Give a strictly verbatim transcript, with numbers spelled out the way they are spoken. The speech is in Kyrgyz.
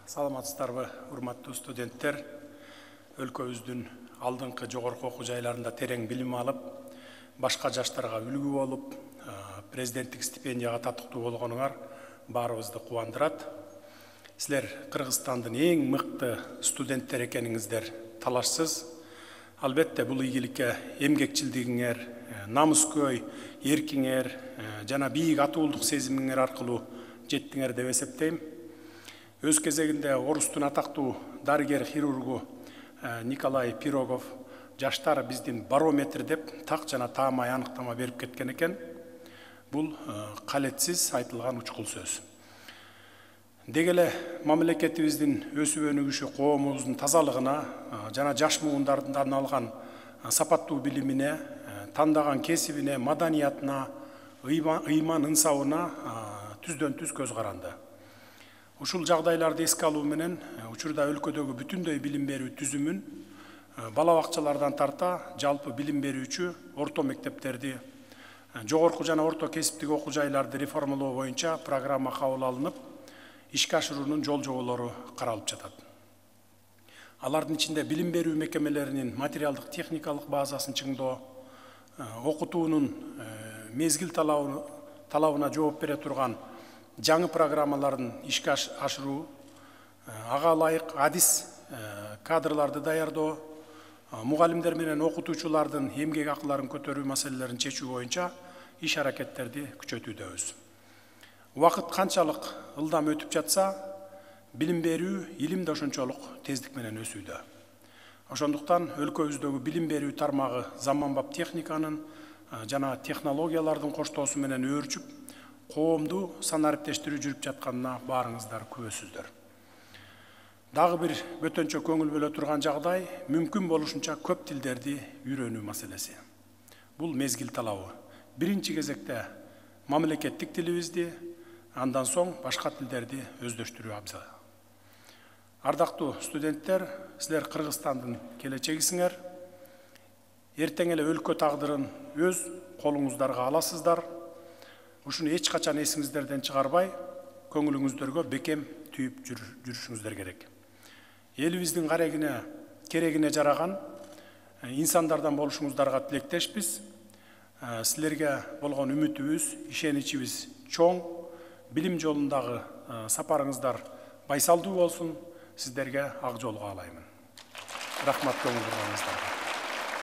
Саламатсыздарбы, урматтуу студенттер. Өлкөбүздүн алдыңкы жогорку окуу жайларында терең билим алып, башка жаштарга үлгү болуп, президенттик стипендияга татыктуу болгонуңар баарыбызды кубандырат. Силер Кыргызстандын эң мыкты студенттер экениңиздер талашсыз. Албетте бул ийгиликке эмгекчилдигиңер, намыскөй, эркиңер жана бийик атуулдук сезимиңер аркылуу жеттиңер деп эсептейм. Өз кезегинде орустун атактуу дарыгер-хирургу Николай Пирогов жаштар биздин барометр деп так жана таамай аныктама берип кеткен экен. Бул калетсиз айтылган учкул сөз. Деги эле мамлекетибиздин өсүп өнүгүшү коомубуздун тазалыгына жана жаш муундардан алган сапаттуу билимине, тандаган кесибине, маданиятына, ыйман ынсабына түздөн түз көз каранды. Ушул жагдайларды эске алуу менен учурда өлкөдөгү бүтүндөй билим берүү түзүмүн бала бакчалардан тарта жалпы билим берүүчү орто мектептерди, жогорку жана орто кесиптик окуу жайларды реформалоо боюнча программа кабыл алынып, ишке ашыруунун жол жоболору каралып жатат. Алардын ичинде билим берүү мекемелеринин материалдык техникалык базасын чыңдоо, окутуунун мезгил талабына жооп бере турган жаңы программаларын ишке ашыруу, ага ылайык адис кадрларды даярдоо, мугалимдер менен окутуучулардын эмгек акыларын көтөрүү маселелерин чечүү боюнча иш аракеттерди күчөтүүдөбүз. Убакыт канчалык ылдам өтүп жатса, билим берүү, илим да ошончолук тездик менен өсүүдө. Ошондуктан өлкөбүздөгү билим берүү тармагы заманбап техниканын жана технологиялардын коштоосу менен өөрчүп, коомду санариптештирүү жүрүп жатканына баарыңыздар күбөсүздөр. Дагы бир бөтөнчө көңүл бөлө турган жагдай мүмкүн болушунча көп тилдерди үйрөнүү маселеси. Бул мезгил талабы. Биринчи кезекте мамлекеттик тилибизди, андан соң башка тилдерди өздөштүрүү абзал. Ардактуу студенттер, силер Кыргызстандын келечегисиңер. Эртең эле өлкө тагдырын өз колуңуздарга аласыздар. Ушуну эч качан эсиңиздерден чыгарбай, көңүлүңүздөргө бекем түйүп жүрүшүңүздөр керек. Элибиздин карегине, керегине жараган инсандардан болушуңуздарга тилектешпиз. Силерге болгон үмүтүбүз, ишеничибиз чоң. Билим жолундагы сапарыңыздар байсалдуу болсун. Сиздерге ак жол каалаймын. Рахмат көңүл бурганыңыздарга.